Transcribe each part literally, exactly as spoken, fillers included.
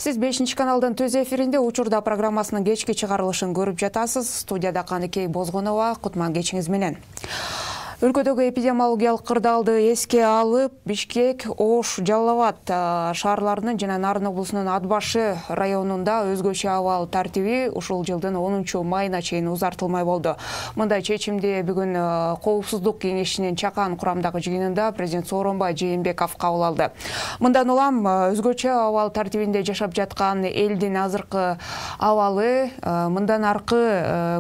Сиз бешинчи каналдын төз эфиринде учурда программасынын кечки чыгарылышын көрүп жатасыз. Студияда Каныкей Бозгонова, Кутман кечиңиз менен. Өлкөдөгү эпидемиологиялык кырдаалды эске алып, Бишкек, Ош, Жалал Абад шаарларынын жана Нарын облусунун Ат башы районунда өзгөчө абал тартиби ушул жылдын онунчу майына чейин узартылмай болду. Мындай чечимди бүгүн Коопсуздук кеңешинин чакан курамдагы жыйынында президент Сооронбай Жээнбеков кабыл алды. Мындан улам өзгөчө абал тартибинде жашап жаткан элдин азыркы абалы, мындан аркы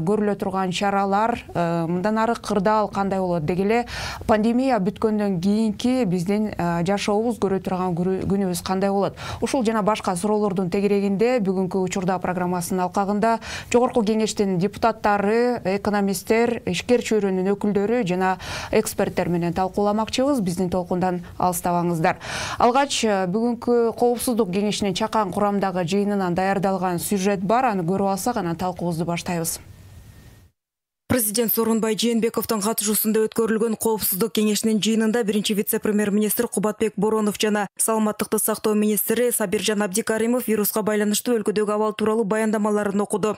көрүлө турган чаралар, мындан ары кырдаал кандай болот дегеле, пандемия бүткөндөн кийинки биздин жашообуз көрө турган күнүбүз кандай болот? Ушул жана башка суроолордун тегерегинде бүгүнкү учурда программасынын алкагында жогорку кеңештин депутаттары, экономисттер, ишкер чөйрөнүн өкүлдөрү жана эксперттер менен талкууламакчыбыз. Биздин толкундан алыстабаңыздар. Алгач бүгүнкү Коопсуздук кеңешинин чакан курамдагы жыйынынан даярдалган сюжет бар, аны көрүп алсак анан талкуубузду баштайбыз. Президент Сооронбай Жээнбековдун катышуусунда өткөрүлгөн Коопсуздук кеңешинин жыйынында биринчи вице-премьер-министр Кубатбек Боронов жана саламаттыкты сактоо министри Сабиржан Абдикаримов вируска байланыштуу өлкөдөгү абал тууралуу баяндамаларын окуду.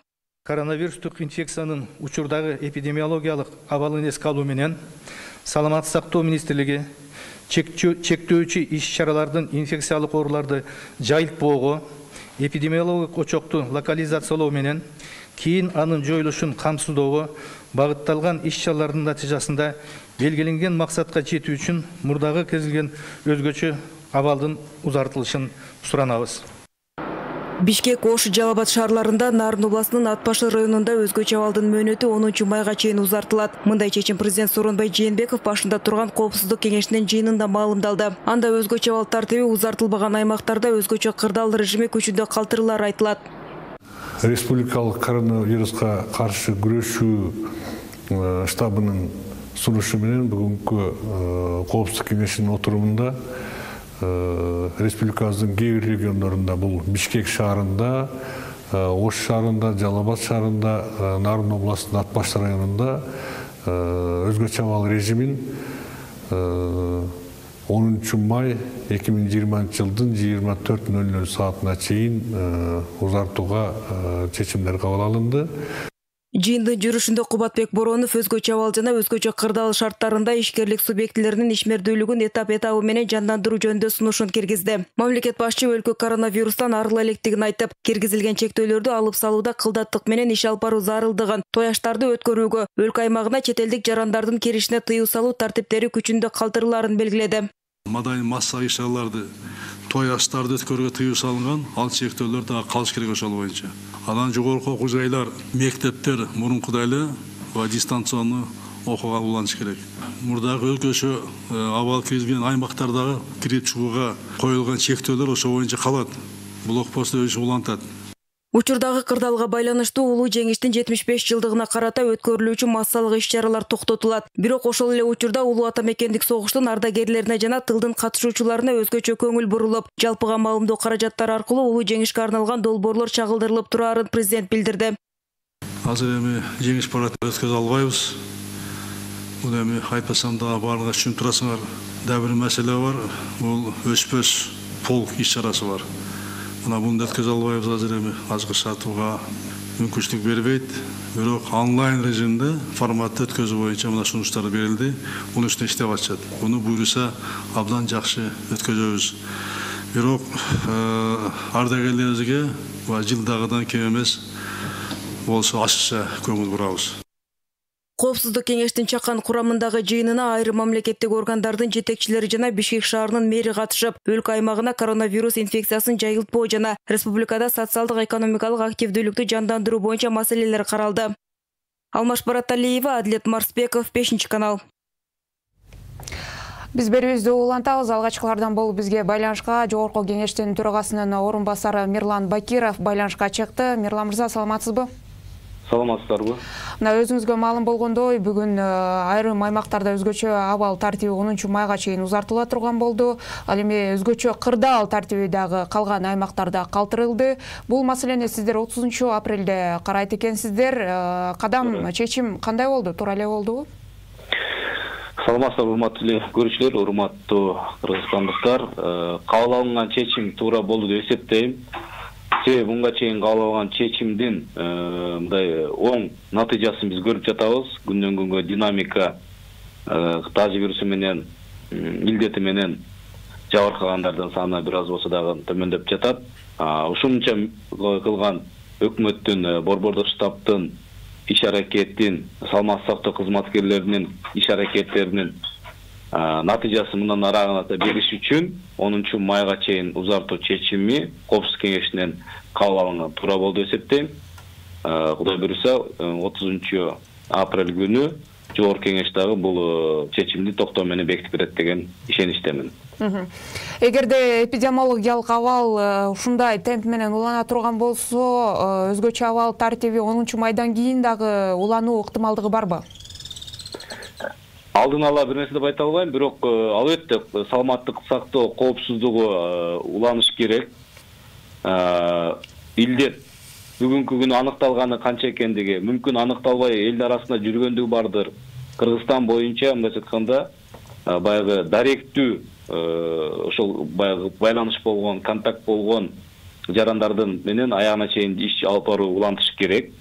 Коронавирустук инфекциянын учурдагы эпидемиологиялык абалын эске алуу менен саламаттык сактоо министрлиги чектөөчү иш-чаралардын инфекциялык ооруларды жайылтпоого, эпидемиологиялык очокту локализациялоо менен кийин анын жоюлушун камсыздоого багытталган иш-чаралардын натыйжасында белгиленген максатка жетүү үчүн мурдагы кезилген өзгөчө абалдын узартылышын суранабыз. Бишкек, Ош, Жалал Абад шаарларында Нарын областынын Ат башы районунда өзгөчө абалдын мөөнөтү онунчу майга чейин узартылат. Мындай чечим президент Сооронбай Жээнбеков башында турган Коопсуздук кеңешинин жыйынында маалымдалды. Анда өзгөчө абал тартиби узартылбаган аймактарда өзгөчө кырдаал режими күчүндө калтырылары айтылат. Республикалык коронавируска каршы күрөшүү штабынын сунушу менен бүгүнкү Коопсуздук кеңешинин отурумунда республикабыздын кээ бир региондорунда, бул Бишкек шаарында, Ош шаарында, Жалал Абад шаарында, Нарын областынын Ат башы районунда өзгөчө абал режимин онунчу май эки миң жыйырманчы жылдын жыйырма төрт нөл нөл саатына чейин узартууга чечимдер кабыл алынды. Жыйындын жүрүшүндө Кубатбек Боронов өзгөчө абал жана өзгөчө кырдаал шарттарында ишкерлик субъектилеринин ишмердүүлүгүн этап-этабы менен жандандыруу жөнүндө сунушун киргизди. Мамлекет башчы өлкө коронавирустан арыла электигин айтып, киргизилген чектөөлөрдү алып салууда кылдаттык менен иш алып баруу зарылдыгын, тояштарды өткөрүүгө, өлкө аймагына чет элдик жарандардын киришине тыюу салуу тартиптери күчүндө калтырыларын белгиледи. Мадай масса иш-чараларды, тояштарды өткөрүүгө тыюу салынган, ал чектөөлөр дагы калыш керек ошол боюнча. Анан жогорку окуу жайлар, мектептер мурункудай эле дистанциондуу окууга уланыш керек. Мурдагы өзгөчө абал киргизген аймактардагы кирип чыгууга коюлган чектөөлөр ошол боюнча калат. Блокпосту өзү улантат. Учурдагы кырдаалга байланыштуу улуу жеңиштин жетимиш беш жылдыгына карата өткөрүлүүчү массалык иш-чаралар токтотулат. Бирок ошол эле учурда улуу ата мекендик согуштун ардагерлерине жана тылдын катышуучуларына өзгөчө көңүл бурулуп, жалпыга маалымдоо каражаттары аркылуу улуу жеңишке арналган долбоорлор чагылдырылып турарын президент билдирди. Азыр эми жеңиш парадын өткөзө албайбыз. Бул эми айтпасам да баарыңар түшүнүп турасыңар. Дагы бир маселе бар. Бул өспөс полк иш-чарасы бар. Мына буну өткөзө албайбыз, азыр эми азгы сатууга мүмкүнчүлүк бербейт. Бирок онлайн режимде форматты өткөзүү боюнча мына сунуштар берилди. Мунун үстүнө иштеп атышат. Буну буйруса абдан жакшы өткөзөбүз. Бирок ардагерлерибизге жылдагыдан кем эмес болсо ашыкча көңүл бурабыз. Коопсуздук кеңештин чакан курамындагы жыйынына айрым мамлекеттик органдардын жетекчилери жана Бишкек шаарынын мэри катышып, өлкө аймагына коронавирус инфекциясын жайылтпоо жана республикада социалдык экономикалык активдүүлүктү жандандыруу боюнча маселелер каралды. Алмаш Бараталиева, Адлет Марсбеков, бешинчи канал. Биз берүүбүздү улантабыз. Алгачкылардан болуп бизге байланышка жогорку кеңештин төрагасынын орун басары Мирлан Бакиров байланышка чыкты. Мирлан мырза, саламатсызбы? Саламатсыздарбы? Мына өзүңүзгө маалым болгондой, бүгүн айрым аймактарда өзгөчө абал тартиби онунчу майга чейин узартыла турган болду. Ал эми өзгөчө кырдаал тартиби дагы калган аймактарда калтырылды. Бул маселени сиздер отузунчу апрелде карайт экенсиздер. Кадам чечим кандай болду? Туура эле болдубу? Саламатсыздар, урматтуу көрүүчүлөр, урматтуу кыргызстандыктар. Кабыл алынган чечим туура болду деп эсептейм. себеби мынга чейин кабыл алган чечимдин мындай оң натыйжасын биз көрүп жатабыз. Күндөн күнгө динамика таза вирусу менен илдети менен жабыркагандардын саны бир аз болсо дагы төмөндөп жатат. Ушунча кылган өкмөттүн, борбордук штабтын иш аракетин, саламаттык сактоо кызматкерлеринин иш аракеттеринин натыйжасы мындан араагына бериш үчүн онунчу майга чейин узартуу чечими Коопсуздук кеңешинен кабыл алынган туура болду деп эсептейм. Кудай буюрса отузунчу апрель күнү жогорку кеңеш дагы бул чечимди токтоо менен бекитип берет деген ишеничтемин. Эгерде эпидемиологиялык абал ушундай темп менен улана турган болсо, өзгөчө абал тартиби онунчу майдан кийин дагы улануу ыктымалдыгы барбы? Алдын ала бир нерсе деп айта албайм, бирок албетте саламаттык сактоо коопсуздугу уланыш керек. Илдет бүгүнкү күнү аныкталганы канча экендиги мүмкүн аныкталбай элдин арасында жүргөндүгү бардыр. Кыргызстан боюнча мындайча айтканда баягы даректүү ошол баягы байланыш болгон, контакт болгон жарандардын менен аягына чейин иш алып баруу улантыш керек.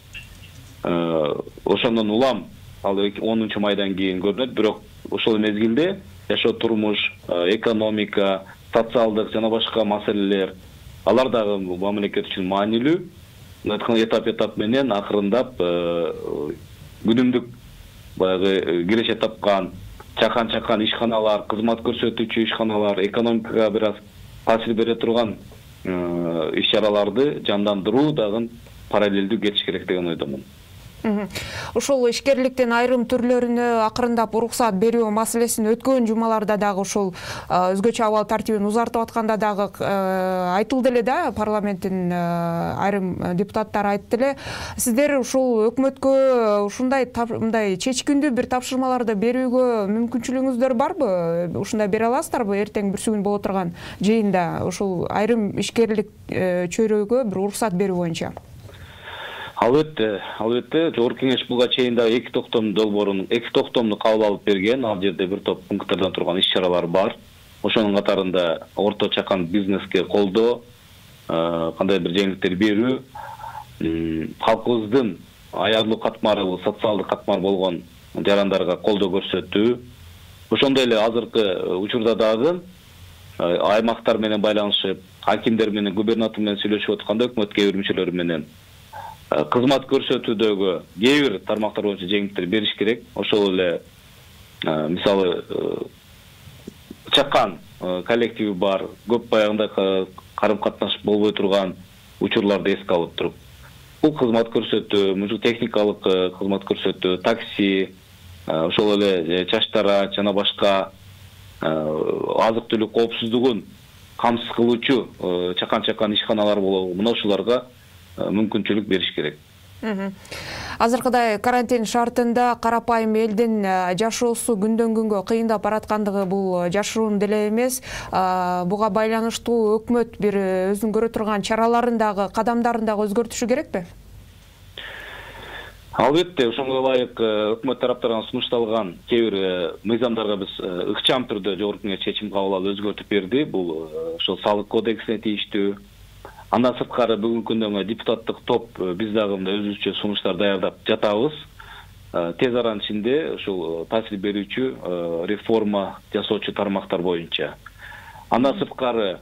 Ошондон улам ал онунчу майдан кийин көрүнөт, бирок ошол мезгилде жашоо турмуш, экономика, социалдык жана башка маселелер алар дагы мамлекет үчүн маанилүү. Мындай этап-этап менен акырындап күнүмдүк баягы киреше тапкан чакан-чакан ишканалар, кызмат көрсөтүүчү ишканалар, экономикага бир аз таасир бере турган иш-чараларды жандандыруу дагы параллелдүү кетиш керек деген ойдомун. Ушул ишкерликтин айрым түрлөрүнө акырындап уруксат берүү маселесин өткөн жумаларда дагы ушул өзгөчө абал тартибин узартып атканда дагы айтылды эле да, парламенттин айрым депутаттары айтты эле. Сиздер ушул өкмөткө ушундай мындай чечкиндүү бир тапшырмаларды берүүгө мүмкүнчүлүгүңүздөр барбы? Ушундай бере аласыздарбы эртең бүрсүгүн боло турган жыйында ушул айрым ишкерлик чөйрөгө бир уруксат берүү боюнча? Албетте, албетте, жогорку кеңеш буга чейин да эки токтом долбоорун, эки токтомду кабыл алып берген. Ал жерде бир топ пункттардан турган иш-чаралар бар. Ошонун катарында орто чакан бизнеске колдоо, кандай бир жеңилдиктер берүү, калкыбыздын аярлуу катмары, социалдык катмар болгон жарандарга колдоо көрсөтүү. Ошондой эле азыркы учурда дагы аймактар менен байланышып, акимдер менен, губернатор менен сүйлөшүп атканда өкмөт кээ бир мүчөлөрү менен кызмат көрсөтүүдөгү кээ бир тармактар боюнча жеңилдиктер бериш керек. Ошол эле мисалы чакан коллективи бар, көп баягындай карым катнаш болбой турган учурларды эске алып туруп, бул кызмат көрсөтүү, мушу техникалык кызмат көрсөтүү, такси, ошол эле чачтара жана башка азык-түлүк коопсуздугун камсыз кылуучу чакан-чакан ишканалар болобу, мына ушуларга мүмкүнчүлүк бериш керек. Азыркыдай карантин шартында карапайым элдин жашоосу күндөн күнгө кыйындап бараткандыгы бул жашыруун деле эмес. Буга байланыштуу өкмөт бир өзүнүн көрө турган чараларын дагы, кадамдарын дагы өзгөртүшү керекпи? Албетте, ошонго ылайык өкмөт тараптарынан сунушталган кээ бир мыйзамдарга биз ыкчам түрдө жогорку кеңеш чечим кабыл алып өзгөртүп берди. Бул ошол салык кодексине тийиштүү. Андан сырткары бүгүнкү күндө депутаттык топ биз дагы өзүбүзчө сунуштар даярдап жатабыз. Тез аранын ичинде ушул таасир берүүчү реформа жасоочу тармактар боюнча. Андан сырткары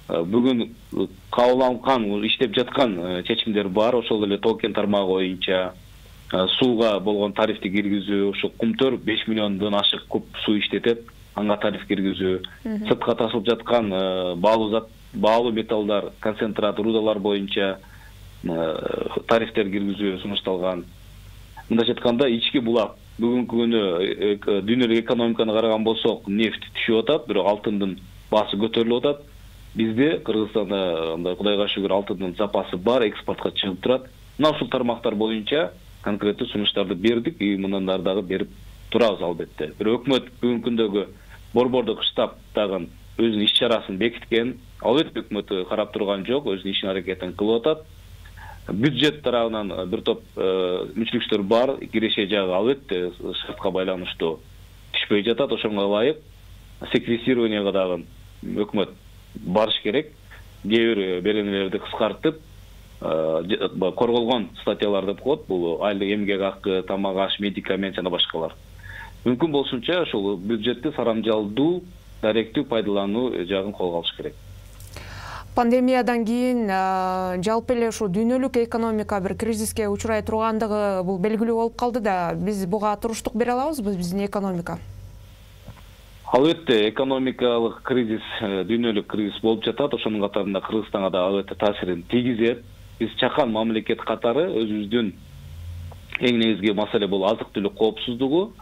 бүгүн кабыл алынган, иштеп жаткан чечимдер бар. Ошол эле токен тармагы боюнча сууга болгон тарифти киргизүү, ошол кумтөр беш миллиондон ашык куб суу иштетет, анга тариф киргизүү, сыртка тасылып жаткан баалуу зат баалуу металлдар, концентрат, рудалар боюнча тарифтер киргизүү сунушталган. Мындайча айтканда, ички булак бүгүнкү күнү дүйнөлүк экономиканы караган болсок, нефть түшүп атат, бирок алтындын баасы көтөрүлүп атат. Бизде Кыргызстанда мындай Кудайга шүгүр алтындын запасы бар, экспортко чыгып турат. Мына ушул тармактар боюнча конкреттүү сунуштарды бердик, и мындан дагы берип турабыз албетте. Бирок өкмөт бүгүнкү күндөгү борбордук штаб дагы өзүнүн иш-чарасын бекиткен. Албетте өкмөт карап турган жок, өзүнүн ишин аракетин кылып атат. Бюджет тарабынан бир топ мүчүлүктөр бар, киреше жагы албетте шартка байланыштуу түшпөй жатат. Ошонго ылайык секвестированияга дагы өкмөт барыш керек. Кээ бир беренелерди кыскартып, корголгон статьялар деп коет. Бул айлык эмгек акы, тамак аш, медикамент жана башкалар. Мүмкүн болушунча ошол бюджетти сарамжалдуу, даректүү пайдалануу жагын колго алыш керек. Пандемиядан кийин жалпы эле ушу дүйнөлүк экономика бир кризиске учурай тургандыгы бул белгилүү болуп калды да, биз буга туруштук бере алабызбы, биздин экономика? Албетте, экономикалык кризис, дүйнөлүк кризис болуп жатат. Ошонун катарында Кыргызстанга да албетте таасирин тийгизет. Биз чакан мамлекет катары өзүбүздүн эң негизги маселе бул азык-түлүк коопсуздугу.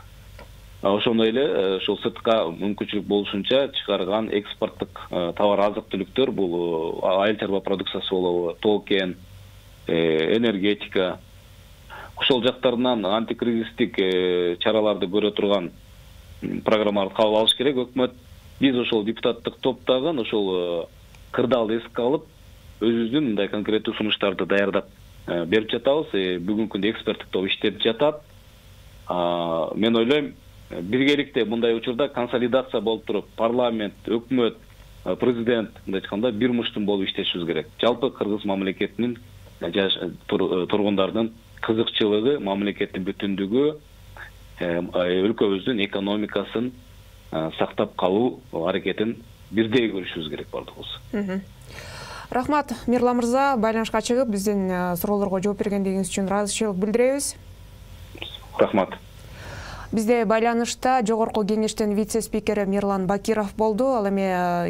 Ошондой эле ошол сыртка мүмкүнчүлүк болушунча чыгарган экспорттук товар азык-түлүктөр бул айыл чарба продукциясы болобу, тоо-кен, энергетика. Ошол жактарынан антикризистик чараларды көрө турган программаларды кабыл алыш керек. Өкмөт биз ошол депутаттык топтогун ошол кырдаалды эске алып, өзүбүздүн мындай конкреттүү сунуштарды даярдап берип жатабыз. Бүгүнкү күндө эксперттик топ иштеп жатат. Мен ойлойм, биргеликте мындай учурда консолидация болуп туруп, парламент, өкмөт, президент мындай айтканда бир муштун болуп иштешибиз керек. Жалпы кыргыз мамлекетинин тургундардын кызыкчылыгы, мамлекеттин бүтүндүгү, өлкөбүздүн экономикасын сактап калуу аракетин бирдей көрүшүбүз керек бардыгыбыз. Рахмат, Мирлан мырза, байланышка чыгып биздин суроолорго жооп бергендигиңиз үчүн ыраазычылык билдиребиз. Рахмат. Бизде байланышта жогорку кеңештин вице-спикери Мирлан Бакиров болду. Ал эми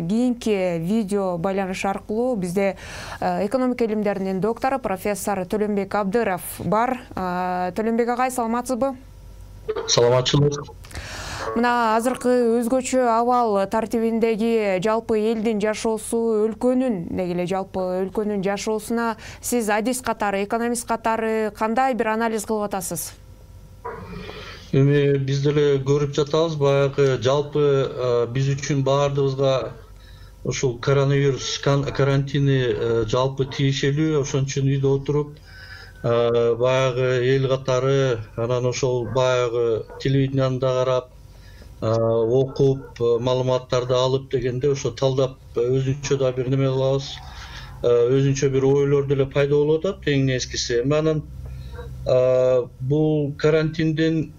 кийинки видео байланыш аркылуу бизде экономика илимдеринин доктору профессор Төлөнбек Абдыров бар. Төлөнбек агай, саламатсызбы? Саламатчылык. Мына азыркы өзгөчө абал тартибиндеги жалпы элдин жашоосу, өлкөнүн, деги эле жалпы өлкөнүн жашоосуна сиз адис катары, экономист катары кандай бир анализ кылып атасыз? Эми биз деле көрүп жатабыз, баягы жалпы биз үчүн баардыгыбызга ушул коронавирус карантини жалпы тиешелүү. Ошон үчүн үйдө отуруп баягы эл катары, анан ошол баягы телевидениянда карап, окуп, маалыматтарды алып дегенде ошо талдап өзүнчө да бир неме кылабыз. Өзүнчө бир ойлор деле пайда болуп атат, эң нескиси. Анан бул карантиндин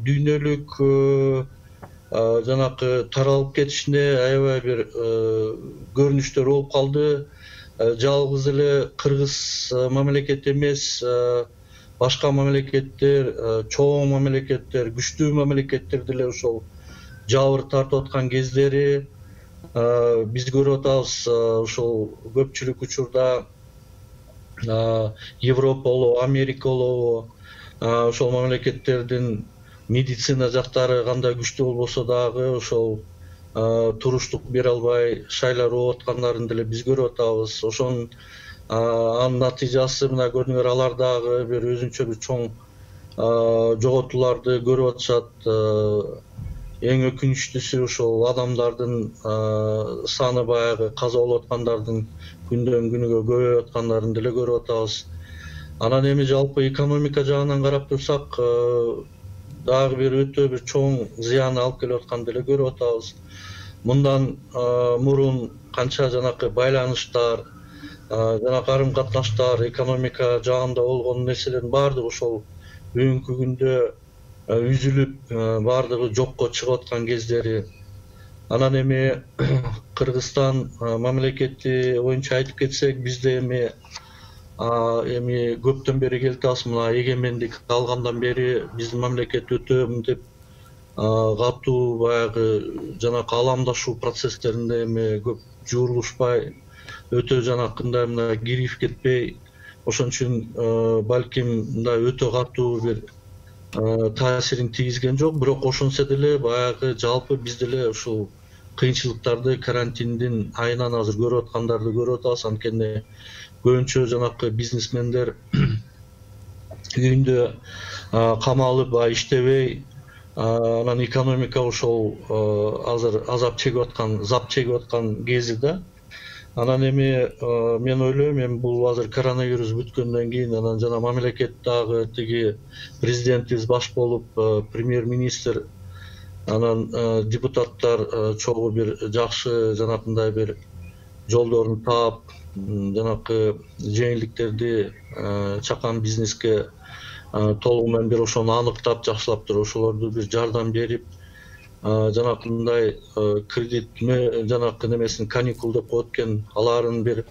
дүйнөлүк жанакы таралып кетишине аябай бир көрүнүштөр болуп калды. Жалгыз эле Кыргыз мамлекети эмес, башка мамлекеттер, чоң мамлекеттер, күчтүү мамлекеттер деле ошол жабыр тартып аткан кездери биз көрүп атабыз. Ошол көпчүлүк учурда Европа болобу, Америка болобу, ошол мамлекеттердин медицина жактары кандай күчтүү болбосо дагы ошол туруштук бере албай шайлар болуп аткандарын деле биз көрүп атабыз. Ошонун анын натыйжасы мына көрдүңөр, алар дагы бир өзүнчө бир чоң жоготууларды көрүп атышат. Эң өкүнүчтүүсү ошол адамдардын саны, баягы каза болуп аткандардын күндөн күнүгө көбөйүп аткандарын деле көрүп атабыз. Анан эми жалпы экономика жагынан карап турсак, дагы бир өтө бир чоң зыян алып келип атканын деле көрүп атабыз. Мындан мурун канча жанакы байланыштар, жана карым катнаштар, экономика жагында болгон нерселердин баардыгы ошол бүгүнкү күндө үзүлүп, баардыгы жокко чыгып аткан кездери. Анан эми Кыргызстан мамлекети боюнча айтып кетсек, бизде эми эми көптөн бери келатабыз. Мына эгемендик алгандан бери биздин мамлекет өтө мынтип катуу баягы жанакы аламдашуу процесстеринде эми көп жуурулушпай, өтө жанакындай мына кирип кетпей, ошон үчүн балким мындай өтө катуу бир таасирин тийгизген жок. Бирок ошонсо деле баягы жалпы биз деле ушул кыйынчылыктарды карантиндин айынан азыр көрүп аткандарды көрүп атабыз. Анткени көбүнчө жанакы бизнесмендер үйүндө камалып, иштебей, анан экономика ошол азыр азап чегип аткан, зап чегип аткан кези да. Анан эми мен ойлойм, эми бул азыр коронавирус бүткөндөн кийин анан жана мамлекет дагы тиги президентибиз баш болуп, премьер-министр, анан депутаттар чогуу бир жакшы жанакындай бир жолдорун таап, жанакы жеңилдиктерди чакан бизнеске толугу менен бир ошону аныктап жакшылап туруп ошолорду бир жардам берип, жанакындай кредит жанакы немесин каникул деп коет экен, аларын бир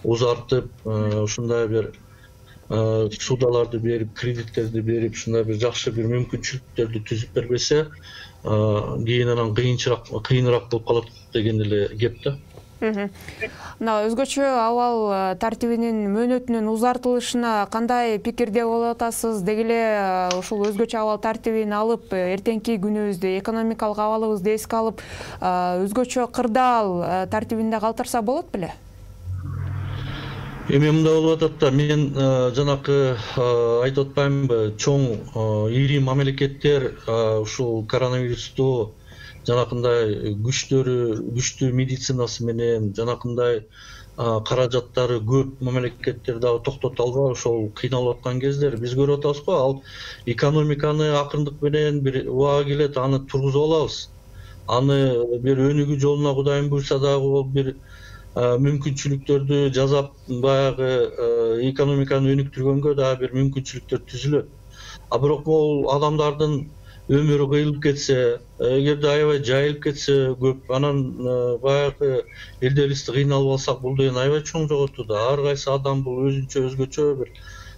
узартып, ушундай бир судаларды берип, кредиттерди берип, ушундай бир жакшы бир мүмкүнчүлүктөрдү түзүп бербесе, кийин анан кыйынчыраак кыйыныраак болуп калат деген эле кеп да. Мына өзгөчө абал тартибинин мөөнөтүнүн узартылышына кандай пикирде болуп атасыз? Деги эле ушул өзгөчө абал тартибин алып, эртеңки күнүбүздү, экономикалык абалыбызды эске алып, өзгөчө кырдаал тартибинде калтырса болот беле? Эми мындай болуп атат да, мен жанакы айтып атпаймынбы, чоң ири мамлекеттер ушул коронавирусту жанакындай күчтөрү, күчтүү медицинасы менен, жанакындай каражаттары көп мамлекеттер дагы токтото албай ошол кыйналып аткан кездер биз көрүп атабыз го. Ал экономиканы акырындык менен бир убага келет, аны тургузуп алабыз. Аны бир өнүгүү жолуна Кудайым буйрса дагы бир мүмкүнчүлүктөрдү жасап, баягы экономиканы өнүктүргөнгө дагы бир мүмкүнчүлүктөр түзүлөт. А бирок бул адамдардын өмүрү кыйылып кетсе, эгерде аябай жайылып кетсе көп, анан баягы элдерибизди кыйналып алсак, бул деген аябай чоң жоготуу да. Ар кайсы адам бул өзүнчө өзгөчө бир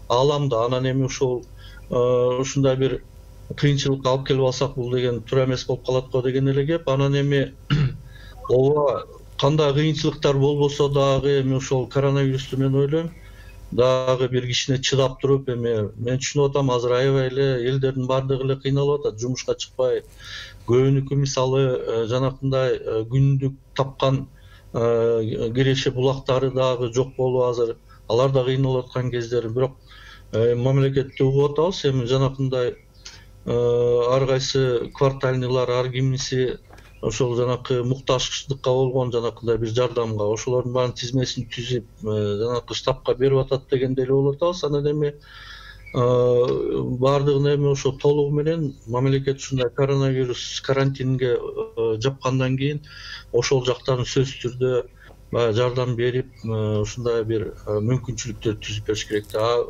ааламда. Анан эми ушул ушундай бир кыйынчылыкка алып келип алсак, бул деген туура эмес болуп калат го деген эле кеп. Анан эми ооба кандай кыйынчылыктар болбосо дагы эми ошол коронавирусту мен ойлойм дагы бир кичине чыдап туруп, эми мен түшүнүп атам, азыр аябай эле элдердин баардыгы эле кыйналып атат, жумушка чыкпай, көбүнүкү мисалы жанакындай күндүк тапкан киреше булактары дагы жок болуп азыр, алар да кыйналып аткан кездер. Бирок мамлекетти угуп атабыз, эми жанакындай ар кайсы квартальныйлар, ар кимиси ошол жанакы муктаждыкка болгон жанакындай бир жардамга, ошолордун баарын тизмесин түзүп, жанакы штабка берип атат дегендей эле болуп атабыз. Анан эми баардыгын эми ошо толугу менен мамлекет ушундай коронавирус карантинге жапкандан кийин ошол жактарын сөзсүз түрдө баягы жардам берип, ушундай бир мүмкүнчүлүктөр түзүп бериш керек да.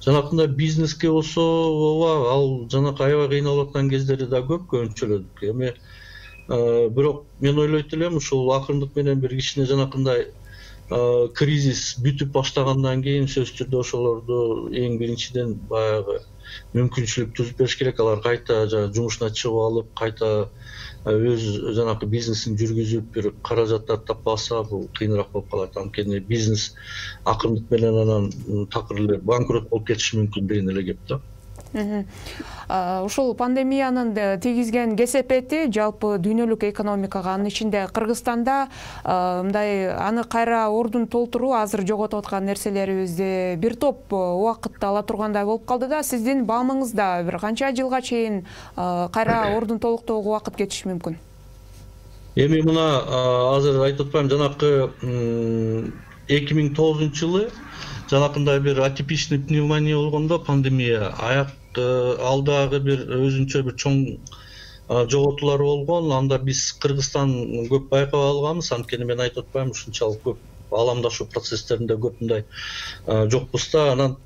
Жанакындай бизнеске болсо, ооба, ал жанакы аябай кыйналып аткан кездери да көп көбүнчөлөдүк. Эми бирок мен ойлойт элем, ушул акырындык менен бир кичине жанакындай кризис бүтүп баштагандан кийин сөзсүз түрдө ошолорду эң биринчиден баягы мүмкүнчүлүк түзүп бериш керек. Алар кайта жумушуна чыгып алып, кайта өз жанакы бизнесин жүргүзүп, бир каражаттар таппай алса, бул кыйыныраак болуп калат. Анткени бизнес акырындык менен анан такыр эле банкрот болуп кетиши мүмкүн деген эле кеп да. Ушул пандемиянын тийгизген кесепети жалпы дүйнөлүк экономикага, анын ичинде Кыргызстанда мындай аны кайра ордун толтуруу, азыр жоготуп аткан нерселерибизди бир топ убакытты ала тургандай болуп калды да. Сиздин баамыңызда бир канча жылга чейин кайра ордун толуктоого убакыт кетиши мүмкүн? Эми мына азыр айтып атпайм, жанакы эки миң тогузунчу жылы жанакындай бир атипичный пневмония болгондо, пандемия, аяк алдагы бир өзүнчө бир чоң жоготуулар болгон. Анда биз Кыргызстан көп байкап алганбыз, анткени мен айтып атпайм, ушунчалык көп ааламдашуу процесстеринде көп мындай жокпуз да. Анан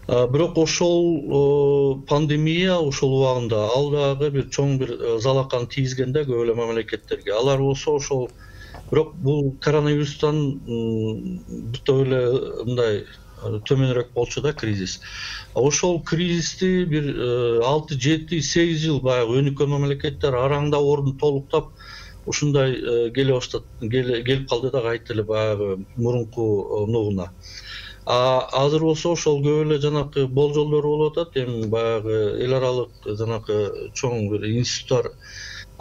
бирок ошол пандемия ошол убагында ал дагы бир чоң бир залаканы тийгизген да көп эле мамлекеттерге. Алар болсо ошол, бирок бул коронавирустан бүтө эле мындай төмөнүрөөк болчу да кризис. Ошол кризисти бир алты, жети, сегиз жыл баягы өнүккөн мамлекеттер араңда ордун толуктап ушундай келе баштады, келип калды да кайта эле баягы мурунку нугуна. А азыр болсо ошол көп эле жанакы болжолдор болуп атат. Эми баягы эл аралык жанакы чоң бир институттар,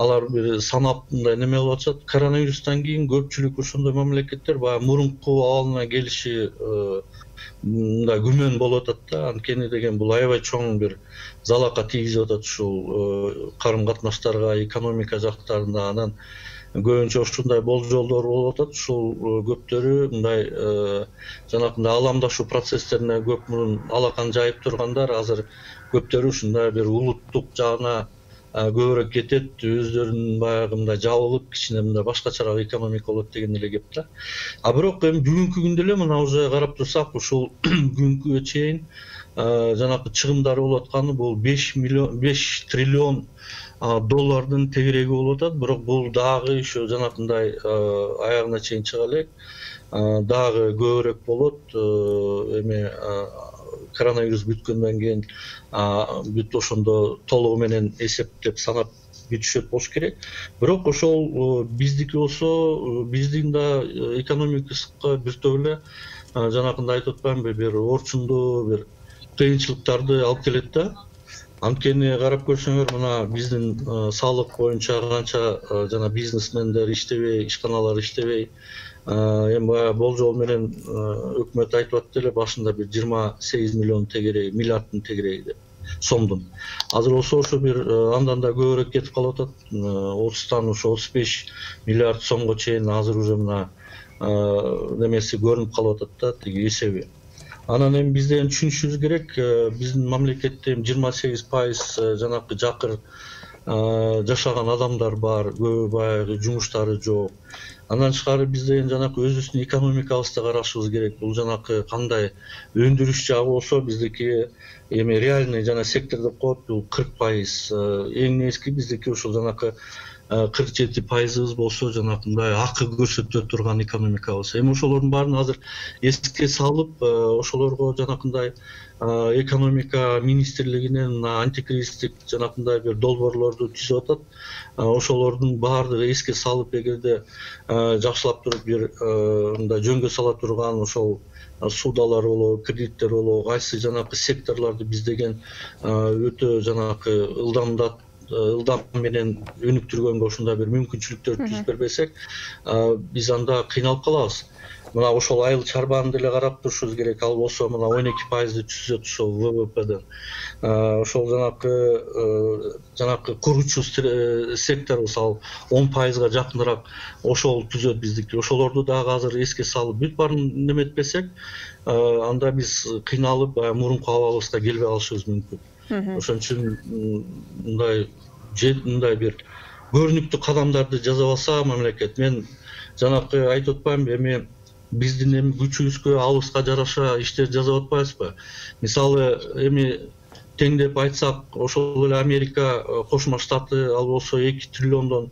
алар бир санап мындай неме болуп атышат. Коронавирустан кийин көпчүлүк ошондой мамлекеттер баягы мурунку абалына келиши мындай күмөн болуп атат да. Анткени деген бул аябай чоң бир залака тийгизип атат ушул карым катнаштарга, экономика жактарына. Анан көбүнчө ушундай болжолдор болуп атат. Ушул көптөрү мындай жанакындай ааламдашуу процесстерине көп мурун алакан жайып тургандар, азыр көптөрү ушундай бир улуттук жагына көбүрөөк кетет, өздөрүнүн баягы мындай жабылып, кичине мындай башкачараак экономика болот деген эле кеп да. А бирок эми бүгүнкү күндө эле мына уже карап турсак, ушул бүгүнкүгө чейин жанагы чыгымдары болуп атканы бул беш миллион беш триллион доллардын тегереги болуп атат. Бирок бул дагы еще жанакындай аягына чейин чыга элек, дагы көбүрөөк болот. Эми коронавирус бүткөндөн кийин бүт ошондо толугу менен эсептеп санап бүтүшөт болуш керек. Бирок ошол биздики болсо, биздин да экономикабызга биртип эле жанакындай айтып атпаймынбы, бир орчундуу бир кыйынчылыктарды алып келет да. Анткени карап көрсөңөр, мына биздин салык боюнча канча жана бизнесмендер иштебей, ишканалар иштебей, эми баягы болжол менен өкмөт айтып атты эле башында бир жыйырма сегиз миллион тегереги, миллиарддын тегереги деп, сомдун. Азыр болсо ошо бир андан да көбүрөөк кетип калып атат. отуздан ошо отуз беш миллиард сомго чейин азыр уже мына немеси көрүнүп калып атат да, тиги эсеби. Анан эми биз деген түшүнүшүбүз керек, биздин мамлекетте жыйырма сегиз пайыз жанакы жакыр жашаган адамдар бар, көбү баягы жумуштары жок. Андан тышкары биз деген жанакы өзүбүздүн экономикабызды карашыбыз керек. Бул жанакы кандай өндүрүш жагы болсо биздики эми реальный жана сектор деп коет, бул кырк пайыз. Эң негизги биздики ушул жанакы кырк жети пайызыбыз болсо жанакындай акы көрсөтө турган экономикабыз. Эми ошолордун баарын азыр эске салып, ошолорго жанакындай экономика министрлигинен антикризистик жанакындай бир долбоорлорду түзүп атат. Ошолордун баардыгы эске салып, эгерде жакшылап туруп бир мындай жөнгө сала турган ошол судалар болобу, кредиттер болобу, кайсы жанакы секторлорду биз деген өтө жанакы ылдамдат ылдам менен өнүктүргөнгө ушундай бир мүмкүнчүлүктөрдү түзүп бербесек, биз анда кыйналып калабыз. Мына ошол айыл чарбаны деле карап турушубуз керек. Ал болсо мына он эки пайызды түзөт ошол вэ вэ пэден. Ошол жанакы жанакы куручу секторубуз ал он пайызга жакыныраак ошол түзөт биздики. Ошолорду дагы азыр эске салып бүт баарын неметпесек, анда биз кыйналып мурунку абалыбызга келбей калышыбыз мүмкүн. Ошон үчүн мындай мындай бир көрүнүктүү кадамдарды жасап алса мамлекет, мен жанакы айтып атпаймынбы, эми биздин эми күчүбүзгө, алыбызга жараша иштер жасап атпайбызбы? Мисалы, эми теңдеп айтсак, ошол эле Америка Кошмо Штаты ал болсо эки триллиондон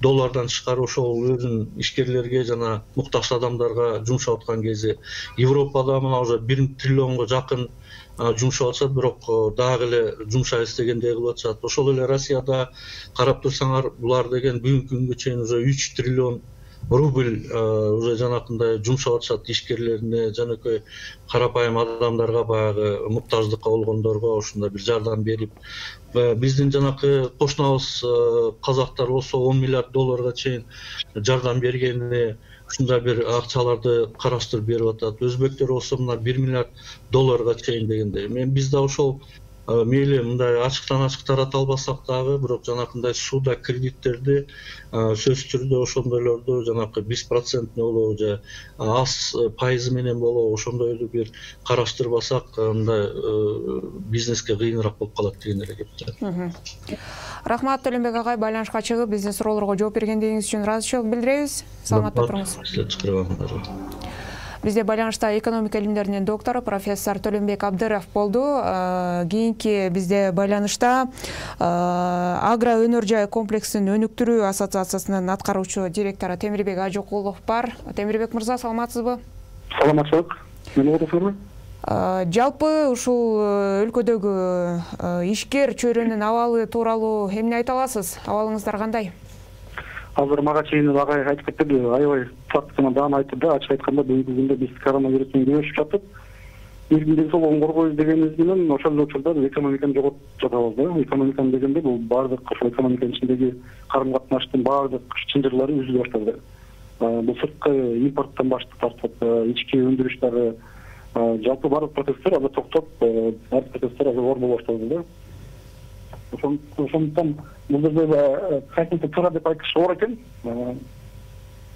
доллардан тышкары ошол өзүнүн ишкерлерге жана муктаж адамдарга жумшап аткан кези, Европада мына уже бир триллионго жакын жумшап атышат, бирок дагы эле жумшайбыз дегендей кылып атышат. Ошол эле Россияда карап турсаңар, булар деген бүгүнкү күнгө чейин уже үч триллион рубль уже жанакындай жумшап атышат ишкерлерине, жанакөй карапайым адамдарга, баягы муктаждыкка болгондорго ушундай бир жардам берип, биздин жанакы кошунабыз казактар болсо он миллиард долларга чейин жардам бергени, ушундай бир акчаларды караштырып берип атат. Өзбектер болсо мына бир миллиард долларга чейин дегендей. Мен биз да ошол мейли мындай ачыктан ачык тарата албасак дагы, бирок жанакындай сууда кредиттерди сөзсүз түрдө ошондойлорду жанакы беш процентный болобу же аз пайызы менен болобу ошондойду бир караштырып алсак, мындай бизнеске кыйыныраак болуп калат деген эле кеп. Рахмат, Төлөнбек агай, байланышка чыгып биздин суроолорго жооп бергендигиңиз үчүн ыраазычылык билдиребиз. Саламатта туруңуз. Бизде байланышта экономика илимдеринин доктору профессор Төлөнбек Абдыров болду. Кийинки бизде байланышта Агро өнөр жай комплексин өнүктүрүү ассоциациясынын аткаруучу директору Темирбек Ажокулов бар. Темирбек мырза, саламатсызбы? Саламатчылык. Мени угасызбы? Жалпы ушул өлкөдөгү ишкер чөйрөнүн абалы тууралуу эмне айта аласыз? Абалыңыздар кандай? Азыр мага чейин агай айтып кетти, аябай фактыны даам айтты да, ачык айтканда бүгүнкү күндө биз коронавирус менен күрөшүп жатып, биздин ден соолугун коргойбуз дегенибиз менен ошол учурда экономиканы жоготуп жатабыз да. Экономиканы дегенде бул баардык ошол экономиканын ичиндеги карым катнаштын баардык чынжырлары үзүлө баштады. Бул сырткы импорттон баштап тартып, ички өндүрүш дагы, жалпы баардык процесстер азыр токтоп, баардык процесстер азыр оор боло баштады да. Ошондуктан бул жерде кайсынчы туура деп айтыш оор экен.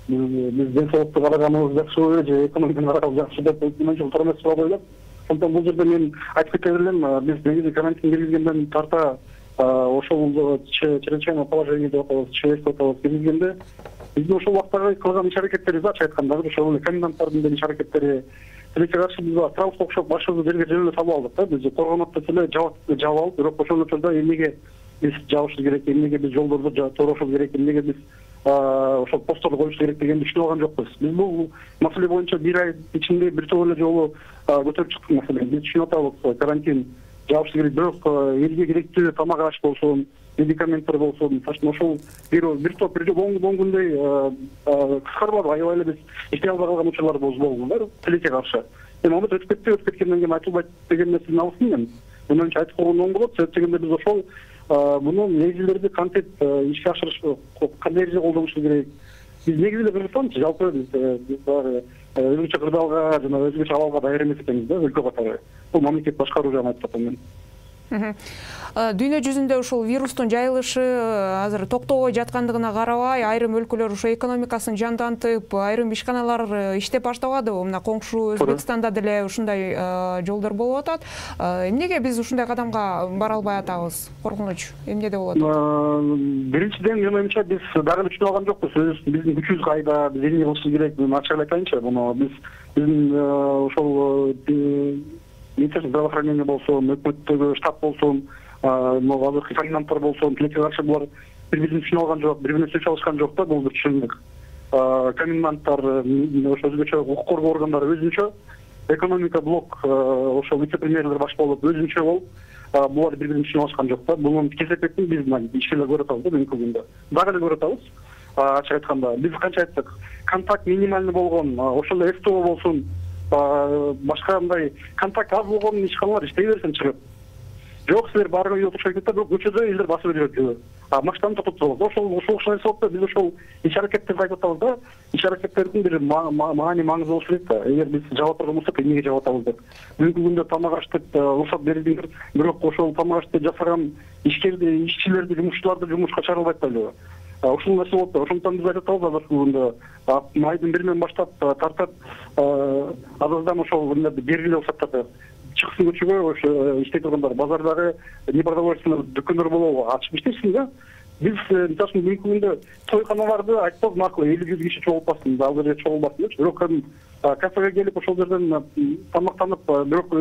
Биз ден соолукту караганыбыз жакшыбы же экономиканы караганыбыз жакшы деп менчү туура эмес суроо коюлат. Ошондуктан бул жерде мен айтып кете берем, биз негизи карантин киргизгенден тарта ошол чрезвычайное положение деп атабыз, ЧС деп атабыз киргизгенде биздин ошол убактагы кылган иш аракеттерибиз ачык айтканда ошол эле коменданттардын деле иш аракеттери тилекке каршы биз страуска окшоп башыбызды жерге жебелеп салып алдык да. Биз коргонот десе эле жабып алып, бирок ошол учурда эмнеге биз жабышыбыз керек, эмнеге биз жолдорду торошубуз керек, эмнеге биз ошол постторду коюш керек дегенди түшүнүп алган жокпуз. Биз бул маселе боюнча бир ай ичинде бир топ эле жолу көтөрүп чыктык маселени. Биз түшүнүп атабыз, карантин жабыш керек, бирок элге керектүү тамак аш болсун, медикаменттер болсун, ошол бир бир топ бир он күндөй кыскарбады, аябай эле биз иштей албай калган учурларыбыз болду да тилекке каршы. Эми аны өтүп кетти, өтүп кеткенден кийин айтылбайт деген нерсени алсын мен. Мындан кийин айтып койгон оң болот, себеп дегенде биз ошол муну негизилерди кантип ишке ашырыш, кандай эреже колдонуш керек. Биз негизинен Кыргызстанчы жалпы биз баары өзгөчө кырдаалга жана өзгөчө абалга даяр эмес экенбиз да, өлкө катары. Бул мамлекет башкаруу жагын айтып атам мен. Дүйнө жүзүндө ушул вирустун жайылышы азыр токтобой жаткандыгына карабай, айрым өлкөлөр ушул экономикасын жандантып, айрым ишканалар иштеп баштабадыбы? Мына коңшу Өзбекстанда деле ушундай жолдор болуп атат. Эмнеге биз ушундай кадамга бара албай атабыз? Коркунуч эмнеде болот? Биринчиден, менин оюмча, биз дагы түшүнүп алган жокпуз. Биздин күчүбүз кайда, биз эмне кылышыбыз керек? Мен ачык айтайынчы, муну биз биздин ошол Министерство здравоохранения болсун, өкмөттөгү штаб болсун, азыркы коменданттар болсун, тилекке каршы булар бири-бирин түшүнүп алган жок, бири-бирине сөз алышкан жок да, бул бир түшүнүк. Коменданттар, ошо өзгөчө укук коргоо органдары өзүнчө, экономика блок ошо вице-премьерлер баш болуп өзүнчө болуп, булар бири-бирин түшүнүп алышкан жок да. Бунун кесепетин биз ишкерлер көрүп атабыз да, бүгүнкү күндө. Дагы эле көрүп атабыз. Ачык айтканда, биз канча айттык, контакт минимальный болгон, ошол эле СТО болсун, башка мындай контакт аз болгон ишканалар иштей берсин чыгып. Жок, силер баарыгы үйдө отурушат кетти, бирок көчөдө элдер басып жүрөт. А машинаны токтотуп болот. Ошол ошол окшой себептен биз ошол иш аракеттерди айтып атабыз да. Иш аракеттердин бир маани маңызы болуш керек да. Эгер биз жаба турган болсок, эмнеге жаба атабыз деп. Бүгүнкү күндө тамак аш деп уруксат берилдиңер, бирок ошол тамак ашты жасаган ишкерди, ишчилерди, жумушчуларды жумушка чыгарып атпайлыбы? Ушул нерсе болуп да, ошондон биз айтып атабыз азыркы күндө майдын биринен баштап тартып азырдан ошол бергиле уруксаттарды чыксын көчөгө, ошо иштей тургандар базардагы непродовольственный дүкөндөр болобу, ачып иштешсин да. Биз мисалы үчүн бүгүнкү күндө тойканаларды айтпак макул, элүү жүз киши чогултпасын, ал жерге чогулбасын депчи. Бирок кафеге келип ошол жерден тамактанып, бирок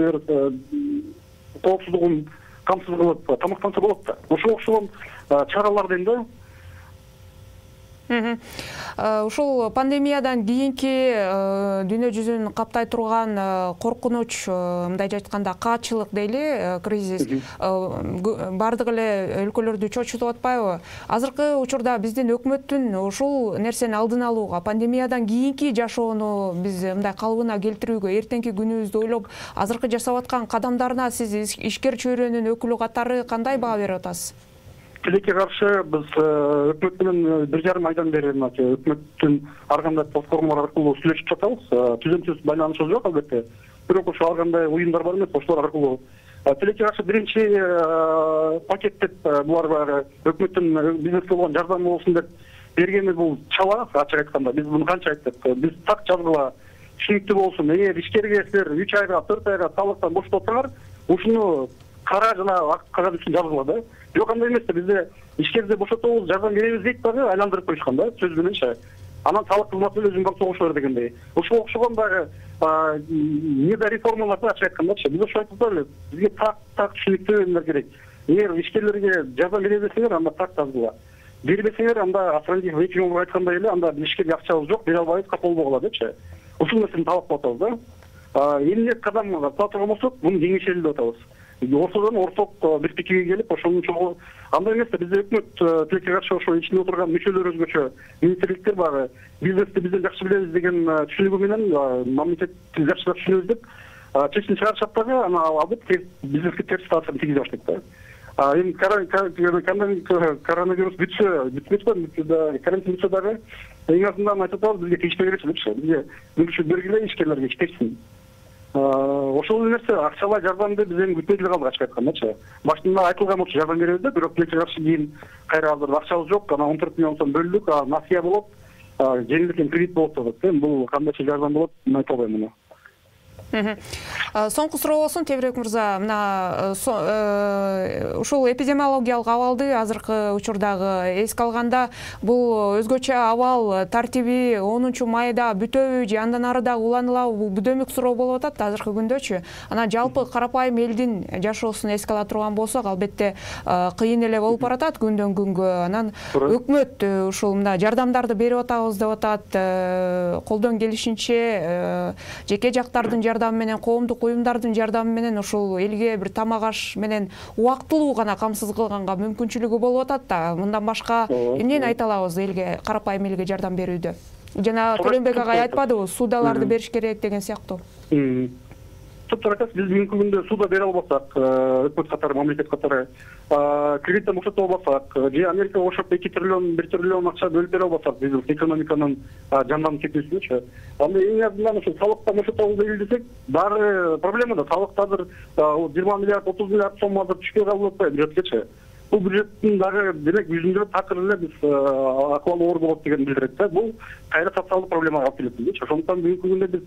коопсуздугун камсыз кылып тамактанса болот да. Ошол окшогон чаралар дейм да. Ушул пандемиядан кийинки дүйнө жүзүн каптай турган коркунуч, мындайча айтканда каатчылык дейли, кризис бардык эле өлкөлөрдү чочутуп атпайбы? Азыркы учурда биздин өкмөттүн ушул нерсени алдын алууга, пандемиядан кийинки жашоону биз мындай калыбына келтирүүгө, эртеңки күнүбүздү ойлоп, азыркы жасап аткан кадамдарына сиз ишкер чөйрөнүн өкүлү катары кандай баа берип атасыз? Тилекке каршы биз өкмөт менен бир жарым айдан бери өкмөттүн ар кандай платформалар аркылуу сүйлөшүп жатабыз. Түзөмсүз байланышыбыз жок албетте. Бирок ошо ар кандай уюмдар бар эмес, ошолор аркылуу тилекке каршы биринчи пакет деп булар баягы өкмөттүн бизнеске болгон жардамы болсун деп бергени бул чала, ачык айтканда. Биз муну канча айттык? Биз так жазгыла, түшүнүктүү болсун. Эгер ишкерге силер үч айга, төрт айга салыктан бошотуп атсаңар, ушуну кара жана ак кагаз үчүн жазгыла да. Жок, андай эмес да, бизде ишкерди бошотобуз, жардам беребиз дейт дагы, айландырып коюшкан да, сөз мененчи. Анан салык кызматы өзүнүн багып согуш бер дегендей. Ошого окшогон дагы недо реформаларды ачык айткандачы. Биз ошо айтып эле, бизге так так түшүнүктүү эмелер керек. Эгер ишкерлерге жардам бере берсеңер, анда так жазгыла. Бербесеңер, анда Афрандиев Вейкин айткандай эле, анда ишкерге акчабыз жок, бере албайбыз, капыл болгула депчи. Ушул нерсени талап кылып атабыз да. Эмне кадам кыла турган болсок, муну кеңешели деп атабыз. Ортодон орток бир пикирге келип, ошонун чогуу андай эмес да, бизде өкмөт тилекке каршы ошо ичинде отурган мүчөлөр өзгөчө, министрликтер багы бизнести бизден жакшы билебиз деген түшүнүгү менен мамлекетти жакшы түшүнөбүз деп чечим чыгарышат дагы, анан албетте бизнеске терс таасирин тийгизе баштайт да. Эми коронавирус бүтсө, бүтпөйт, карантин бүтсө дагы эң азынан айтып атабыз, бизге тийишпей кетчү депчи. Бизге мүмкүнчүлүк бергиле, ишкерлерге иштешсин. Ошол нерсе акчалай жардамды биз эми күтпөй деле калдык, ачык айтканда. Башында айтылган болчу жардам беребиз да, бирок тилекке каршы кийин кайра азыр акчабыз жок, анан он төрт миллион сом бөлдүк, насыя болот, жеңилдеткен кредит болот деп атат. Бул кандайча жардам болот, мен айта албайм муну. Соңку суроо болсун, Тебирбек мырза, мына ушул эпидемиологиялык абалды азыркы учурдагы эске алганда, бул өзгөчө абал тартиби онунчу майда бүтөбү же андан ары дагы уланылабы? Бул дөмүк суроо болуп атат азыркы күндөчү. Анан жалпы карапайым элдин жашоосун эске ала турган болсок, албетте кыйын эле болуп баратат күндөн күнгө. Анан өкмөт ушул мына жардамдарды берип атабыз деп атат. Колдон келишинче жеке жактардын жардамы менен, коомдук уюмдардын жардамы менен ушул элге бир тамак аш менен убактылуу гана камсыз кылганга мүмкүнчүлүгү болуп атат да. Мындан башка эмнени айта алабыз элге, карапайым элге жардам берүүдө? Жана Төлөнбек агай айтпадыбы, судаларды бериш керек деген сыяктуу. Топтор айтасыз, биз бүгүнкү күндө суда бере албасак, өкмөт катары, мамлекет катары, кредиттен бошото албасак, же Америка ошоп эки триллион, бир триллион акча бөлүп бере албасак, биз экономиканын жанданып кетүүсүнчү. Анда эң азынан ошо салыктан бошото алуу дейли десек, дагы проблема да. Салыкты азыр жыйырма миллиард, отуз миллиард сом азыр түшпөй калып атпайбы бюджетке. Бул бюджеттин дагы демек жүзүндө такыр эле биз акыбалы оор болот деген билдирет да. Бул кайра социалдык проблемага алып келет. Ошондуктан бүгүнкү күндө биз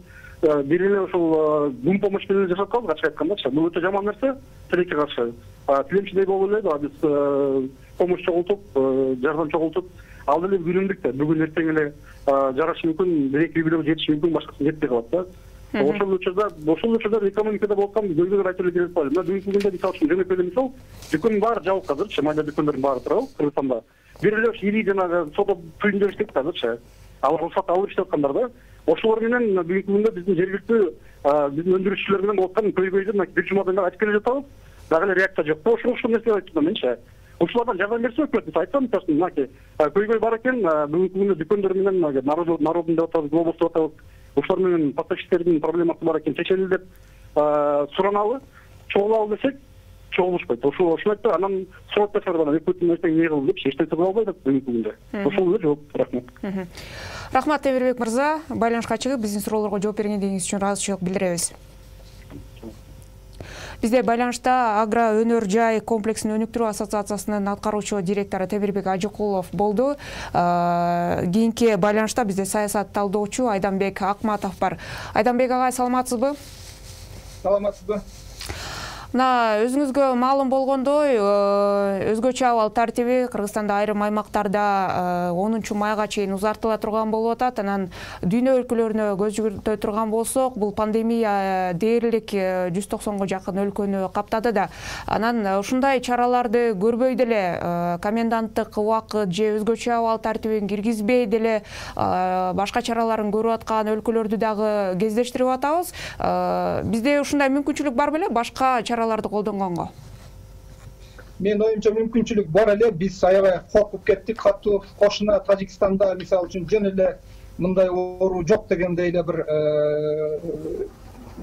бир эле ушул гүн помощь менен жашап калдык, ачык айткандачы. Бул өтө жаман нерсе, тилекке каршы. Тилемчидей болуп эле биз помощь чогултуп, жардам чогултуп, ал деле күнүмдүк да. Бүгүн эртең эле жарашы мүмкүн, бир эки миллион жетиши мүмкүн, башкасы жетпей калат да. Ошол учурда, ошол учурда экономикада болуп аткан көйгөйлөр айтып эле келип калды. Мына бүгүнкү күндө мисалы үчүн жөнөкөй эле мисал, дүкөндүн баары жабык азырчы, майда дүкөндөрдүн баары турабы Кыргызстанда. Бир эле ири жанагы соода түйүндөр иштейт азырчы. Алар рухсат алып иштеп аткандар да. Ошолор менен бүгүнкү күндө биздин жергиликтүү биздин өндүрүшчүлөр менен болуп аткан көйгөйдү мына бир жумадан бери айтып келе жатабыз. Дагы эле реакция жок. Ошол ошол нерселерди айтып менчи. Ушулардан жардам берсе өкмөт, биз айтсам, мынакей көйгөй бар экен, бүгүнкү күндө дүкөндөр менен народун деп атабыз, глобус деп атабыз. Ушулар менен поставщиктердин проблемасы бар экен, чечели деп сураналы, чогулалы десек, чогулушпайт. Ошол ошону айтты, анан сурап берсе анан өкмөттүн эртең эмне кылды деп эч нерсе кыла албайт бүгүнкү күндө. Ошол эле жооп. Рахмат. Рахмат Тебирбек мырза, байланышка чыгып биздин суроолорго жооп бергендигиңиз үчүн ыраазычылык билдиребиз. Бизде байланышта Агро өнөр жай комплексин өнүктүрүү ассоциациясынын аткаруучу директору Тебирбек Ажыкулов болду. Кийинки байланышта бизде саясат талдоочу Айданбек Акматов бар. Айданбек агай, саламатсызбы? Саламатсызбы. Мына өзүңүзгө маалым болгондой, өзгөчө абал тартиби Кыргызстанда айрым аймактарда онунчу майга чейин узартыла турган болуп атат. Анан дүйнө өлкөлөрүнө көз жүгүртө турган болсок, бул пандемия дээрлик жүз токсонго жакын өлкөнү каптады да. Анан ушундай чараларды көрбөй деле, коменданттык убакыт же өзгөчө абал тартибин киргизбей деле башка чараларын көрүп аткан өлкөлөрдү дагы кездештирип атабыз. Бизде ушундай мүмкүнчүлүк бар беле башка чараларды колдонгонго? Мен оюмча мүмкүнчүлүк бар эле. Биз аябай коркуп кеттик. Катуу кошуна Тажикстанда мисалы үчүн жөн эле мындай оору жок дегендей эле бир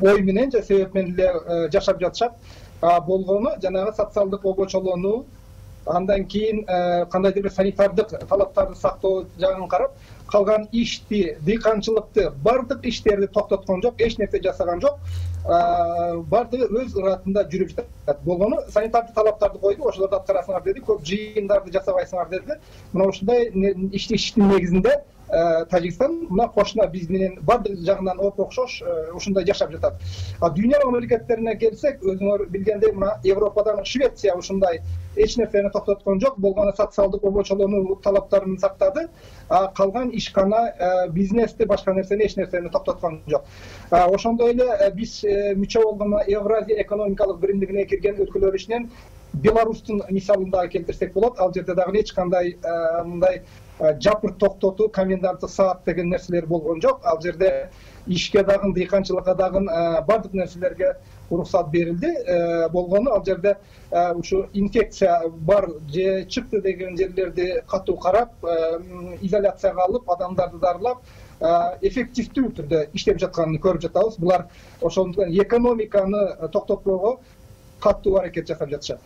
ой менен же себеп менен эле жашап жатышат. А болгону жанагы социалдык обочолоону, андан кийин кандайдыр бир санитардык талаптарды сактоо жагын карап, калган ишти, дыйканчылыкты, бардык иштерди токтоткон жок, эч нерсе жасаган жок. Бардыгы өз ыраатында жүрүп жатат. Болгону санитардык талаптарды койду, ошолорду аткарасыңар деди, көп жыйындарды жасабайсыңар деди. Мына ушундай иштин негизинде Тажикстан мына кошуна биз менен бардык жагынан оп окшош ушундай жашап жатат. А дүйнө мамлекеттерине келсек, өзүңөр билгендей мына Европадан Швеция ушундай эч нерсени токтоткон жок, болгону социалдык обочолоону талаптарын сактады. А калган ишкана, бизнести, башка нерсени эч нерсени токтоткон жок. Ошондой эле биз мүчө болгон Евразия экономикалык биримдигине кирген өлкөлөр ичинен Беларустун мисалын дагы келтирсек болот. Ал жерде дагы эч кандай мындай жапыр токтотуу, коменданттык саат деген нерселер болгон жок. Ал жерде ишке дагы, дыйканчылыкка дагы бардык нерселерге уруксат берилди. Болгону ал жерде ушу инфекция бар же чыкты деген жерлерди катуу карап, изоляцияга алып, адамдарды дарылап, эффективдүү түрдө иштеп жатканын көрүп жатабыз. Булар ошондуктан экономиканы токтотпоого катуу аракет жасап жатышат.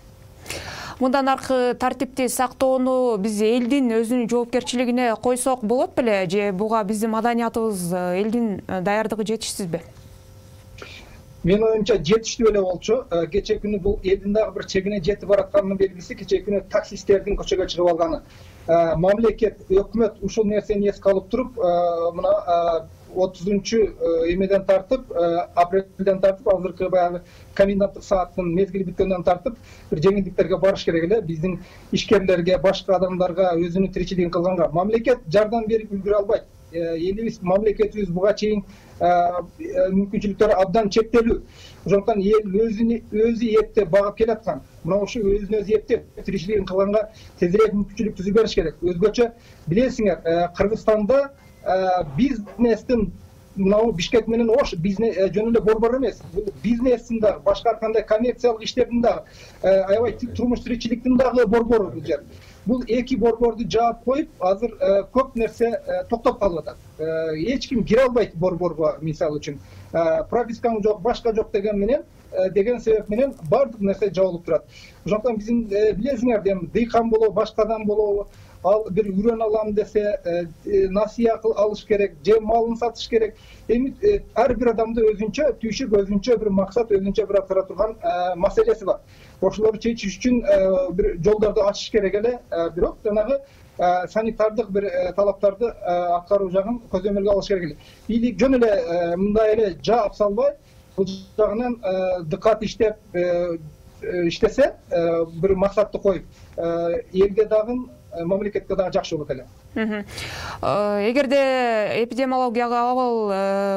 Мындан аркы тартипти сактоону биз элдин өзүнүн жоопкерчилигине койсок болот беле, же буга биздин маданиятыбыз, элдин даярдыгы жетишсизби? Мен оюмча жетиштүү эле болчу. Кечээ күнү бул элдин дагы бир чегине жетип баратканынын белгиси кечээ күнү таксисттердин көчөгө чыгып алганы. Мамлекет, өкмөт ушул нерсени эске алып туруп, мына отузунчу эмеден тартып, апрелден тартып, азыркы баягы коменданттык сааттын мезгили бүткөндөн тартып бир жеңилдиктерге барыш керек эле. Биздин ишкерлерге, башка адамдарга, өзүнүн тиричилигин кылганга мамлекет жардам берип үлгүрө албайт. Элибиз, мамлекетибиз буга чейин мүмкүнчүлүктөрү абдан чектелүү. Ошондуктан эл өзүнү өзү эптеп багып келаткан. Мына ошо өзүн өзү эптеп тиричилигин кылганга тезирээк мүмкүнчүлүк түзүп бериш керек. Өзгөчө билесиңер, Кыргызстанда бизнестин мынау Бишкек менен Ош бизнес жөн эле борбор эмес. Бул бизнестин дагы, башка ар кандай коммерциялык иштердин дагы, аябай турмуш тиричиликтин дагы борбору бул жер. Бул эки борборду жаап коюп, азыр көп нерсе токтоп калып атат. Эч ким кире албайт борборго, мисалы үчүн. Пропискам жок, башка жок деген менен, деген себеп менен бардык нерсе жабылып турат. Ошондуктан биздин билесиңер, дем дыйкан болобу, башкадан болобу, ал бир үрөн алам десе, насыя алыш керек, же малын сатыш керек. Эми ар бир адамда өзүнчө түйшүк, өзүнчө бир максат, өзүнчө бир атыра турган маселеси бар. Ошолорду чечиш үчүн бир жолдорду ачыш керек эле, бирок жанагы санитардык бир талаптарды аткаруу жагын көзөмөлгө алыш керек эле. Бийлик жөн эле мындай эле жаап салбай, бул жагынан дыкат иштеп иштесе, бир максатты коюп, элге дагы, мамлекетке дагы жакшы болот эле. Эгерде эпидемиологиялык абал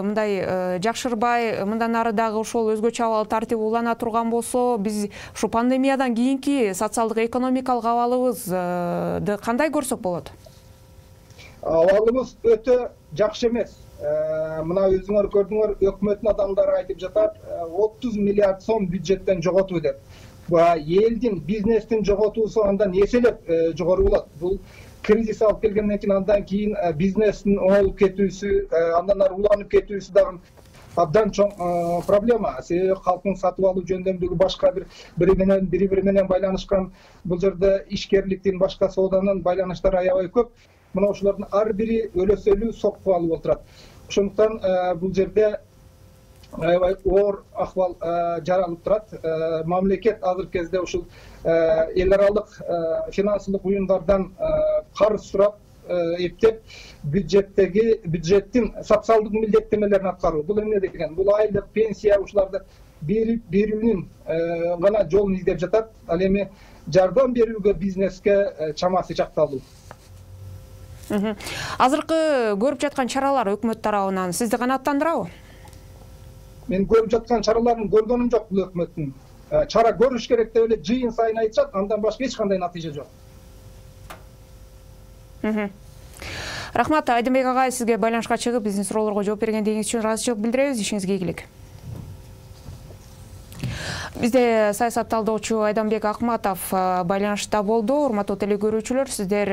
мындай жакшырбай, мындан ары дагы ошол өзгөчө абал тартиби улана турган болсо, биз ушу пандемиядан кийинки социалдык экономикалык абалыбызды кандай көрсөк болот? Абалыбыз өтө жакшы эмес. Мына өзүңөр көрдүңөр, өкмөттүн адамдары айтып жатат, отуз миллиард сом бюджеттен жоготуу деп. Элдин, бизнестин жоготуусу андан эселеп жогору болот. Бул кризис алып келгенден кийин, андан кийин бизнестин оңолуп кетүүсү, андан ары уланып кетүүсү дагы абдан чоң проблема. Себеби калктын сатып алуу жөндөмдүгү башка бир бири менен бири бири менен байланышкан. Бул жерде ишкерликтин, башка сооданын байланыштары аябай көп. Мына ошолордун ар бири өлөсөлүү сокку алып отурат. Ошондуктан бул жерде аябай оор акыбал жаралып турат. Мамлекет азыркы кезде ушул эл аралык финансылык уюмдардан карыз сурап, эптеп бюджеттеги бюджеттин социалдык милдеттемелерин аткаруу. Бул эмне деген? Бул айлык, пенсия ушуларды берип берүүнүн гана жолун издеп жатат. Ал эми жардам берүүгө бизнеске чамасы жакталуу. Азыркы көрүп жаткан чаралар өкмөт тарабынан сизди канааттандырабы? Мен көрүп жаткан чараларын көргөнүм жок бул өкмөттүн. Чара көрүш керек деп эле жыйын сайын айтышат, андан башка эч кандай натыйжа жок. Рахмат, Айдынбек агай, сизге байланышка чыгып биздин суроолорго жооп бергендигиңиз үчүн ыраазычылык билдиребиз. Ишиңизге ийгилик. Бизде саясат талдоочу Айдынбек Акматов байланышта болду. Урматтуу телекөрүүчүлөр, сиздер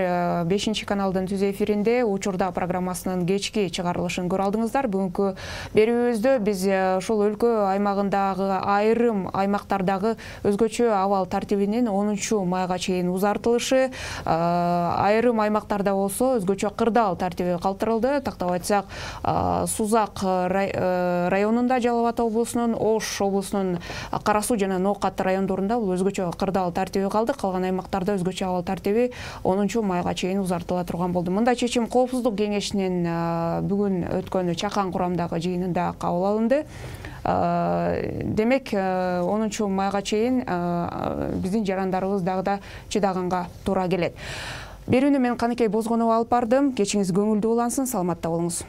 бешинчи каналдын түз эфиринде учурда программасынын кечки чыгарылышын көрө алдыңыздар. Бүгүнкү берүүбүздө биз ушул өлкө аймагындагы айрым аймактардагы өзгөчө абал тартибинин онунчу майга чейин узартылышы, айрым аймактарда болсо өзгөчө кырдаал тартиби калтырылды. Тактап айтсак, Сузак районунда, Жалал Абад облусунун, Ош облусунун Карасуу жана Ноокат райондорунда бул өзгөчө кырдаал тартиби калды. Калган аймактарда өзгөчө абал тартиби онунчу майга чейин узартыла турган болду. Мындай чечим Коопсуздук кеңешинин бүгүн өткөн чакан курамдагы жыйынында кабыл алынды. Демек, онунчу майга чейин биздин жарандарыбыз дагы да чыдаганга туура келет. Берүүнү мен Каныкей Бозгонова алып бардым. Кечиңиз көңүлдүү улансын, саламатта болуңуз.